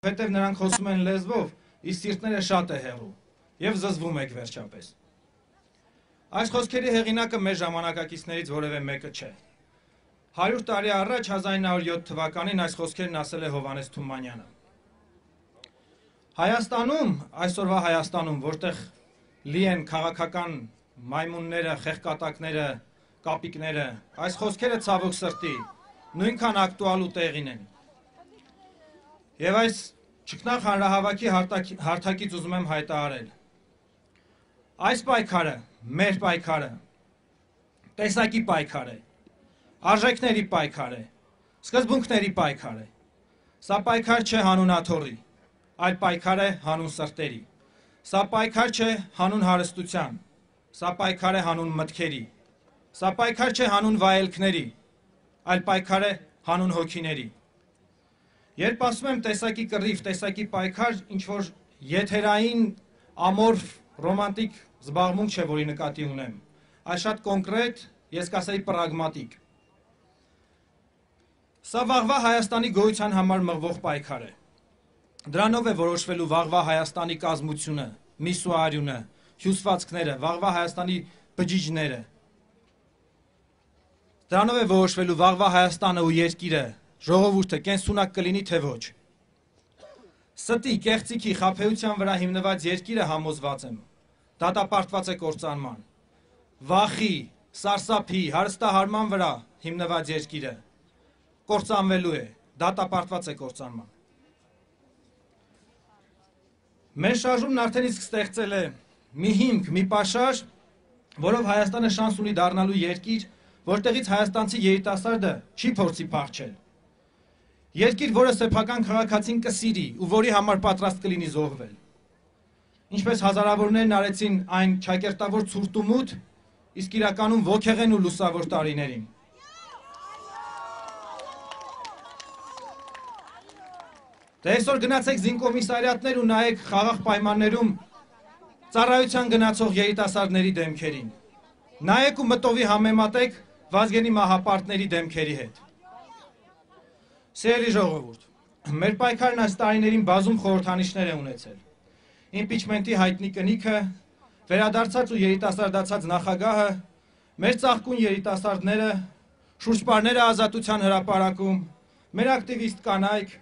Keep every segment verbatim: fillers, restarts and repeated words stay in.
Հետև նրանք խոսում են լեզվով, իսկ սիրտները շատ է հեռու, և զզվում եք վերջապես։ Այս խոսքերի հեղինակը մեր ժամանակակիցներից որևէ մեկը չէ։ Հարյուր տարի առաջ հազար ինը հարյուր յոթ թվականին այս խոսքերն ասել է Հովհաննես Թումանյանը։ Հայաստանում, այսօրվա Հայաստանում, որտեղ լի են քաղաքական մայմունները, խեղկատակները, կապիկները, այս խոսքերը ցավոք սրտի նույնքան ակտուալ ու տեղին են։ Եվ այս ճգնախ հանրահավաքի հարթակից ուզում եմ հայտարարել. այս պայքարը, մեր պայքարը, տեսակի պայքար է, արժեքների պայքար է, սկզբունքների պայքար է։ Սա պայքար չէ հանուն աթոռի, այլ պայքար է հանուն սրտերի։ Սա պայքար չէ հանուն հարստության, սա պայքար է հանուն մտքերի, սա պայքար չէ հանուն վայելքների, այլ պայքար է հանուն հոգիների։ Երբ ասում եմ տեսակի կռիվ, տեսակի պայքար, ինչ-որ եթերային, ամորֆ, ռոմանտիկ զբաղմունք չէ, որի նկատի ունեմ, այլ շատ կոնկրետ, ես կասեի պրագմատիկ։ Սա վաղվա Հայաստանի գոյության համար մղվող պայքար է։ Դրանով է որոշվելու վաղվա Հայաստանի կազմությունը, միսուարյունը, հյուսվածքները, վաղվա Հայաստանի բջիջները։ Դրանով է որոշվելու վաղվա Հայաստանը ու երկիրը, ժողովուրդը կենսունակ կլինի թե ոչ։ Ստի, կեղծիքի, խաբեության վրա հիմնված երկիրը համոզված եմ, դատապարտված է կործանման։ Վախի, սարսափի, հարստահարման վրա հիմնված երկիրը կործանվելու է, դատապարտված է կործանման։ Մեր շարժումն արդեն իսկ ստեղծել է մի հիմք, մի պաշար, որով Հայաստանը շանս ունի դառնալու երկիր, որտեղից հայաստանցի երիտասարդը չի փորձի փախչել։ Երկիր, որը սեփական քաղաքացին կսիրի ու որի համար պատրաստ կլինի զոհվել։ Ինչպես հազարավորներն արեցին այն ճակերտավոր ցուրտ ու մութ, իսկ իրականում ոգեղեն ու լուսավոր տարիներին։ Դե այսօր գնացեք զինկոմիսարիատներ ու նայեք խաղաղ պայմաններում ծառայության գնացող երիտասարդների դեմքերին։ Նայեք ու մտովի համեմատեք Վազգենի մահապարտների դեմքերի հետ։ Սիրելի ժողովուրդ, մեր պայքարն այս տարիներին բազում խորհրդանիշներ է ունեցել։ Իմպիչմենտի հայտնի կնիքը, վերադարձած ու երիտասարդացած նախագահը, մեր ծաղկուն երիտասարդները, շուրջպարները ազատության հրապարակում, մեր ակտիվիստ կանայք,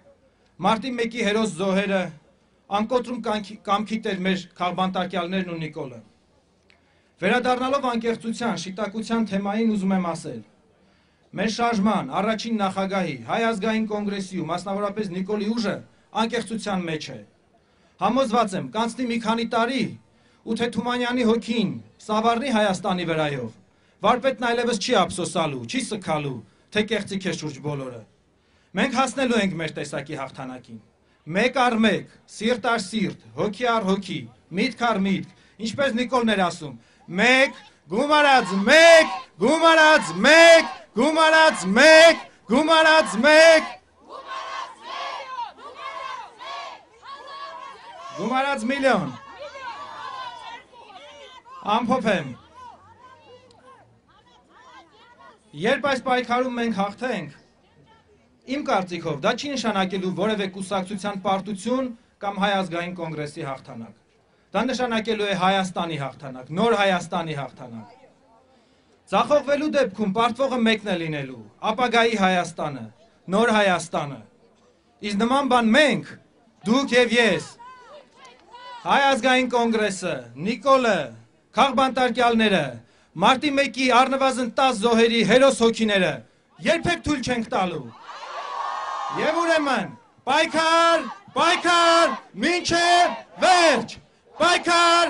մարտի մեկի հերոս զոհերը, անկոտրում կամքի տեր մեր քաղբանտարկյալներն ու Նիկոլը։ Վերադառնալով անկեղծության, շիտակության թեմային ուզում եմ ասել. մեր շարժման, առաջին նախագահի, Հայ ազգային կոնգրեսի ու մասնավորապես Նիկոլի ուժը անկեղծության մեջ է։ Համոզված եմ, կանցնի մի քանի տարի, ու թե Թումանյանի հոգին սավառնի Հայաստանի վրայով, վարպետն այլևս չի ափսոսալու, չի սգալու, թե կեղծիք է շուրջ բոլորը։ Մենք հասնելու ենք մեր տեսակի հաղթանակին։ Մեկ առ մեկ, սիրտ առ սիրտ, հոգի առ հոգի, միտք առ միտք, ինչպես Նիկոլն էր ասում, մեկ, գումարած մեկ, գումարած մեկ, գումարած մեկ, գումարած մեկ, գումարած միլիոն, ամփոփ եմ։ Երբ այս պայքարում մենք հաղթենք, իմ կարծիքով դա չի նշանակելու որևէ կուսակցության պարտություն կամ Հայ ազգային կոնգրեսի հաղթանակ։ Դա նշանակելու է Հայաստանի հաղթանակ, նոր Հայաստանի հաղթանակ։ Ձախողվելու դեպքում պարտվողը մեկն է լինելու, ապագայի Հայաստանը, նոր Հայաստանը։ Իսկ նման բան մենք, դուք և ես, Հայ ազգային կոնգրեսը, Նիկոլը, քաղբանտարկյալները, մարտի մեկի առնվազն տաս զոհերի հերոս հոգիները երբեք թույլ չենք տալու։ Եվ ուրեմն, պայքար, պայքար, մինչև վերջ, պայքար,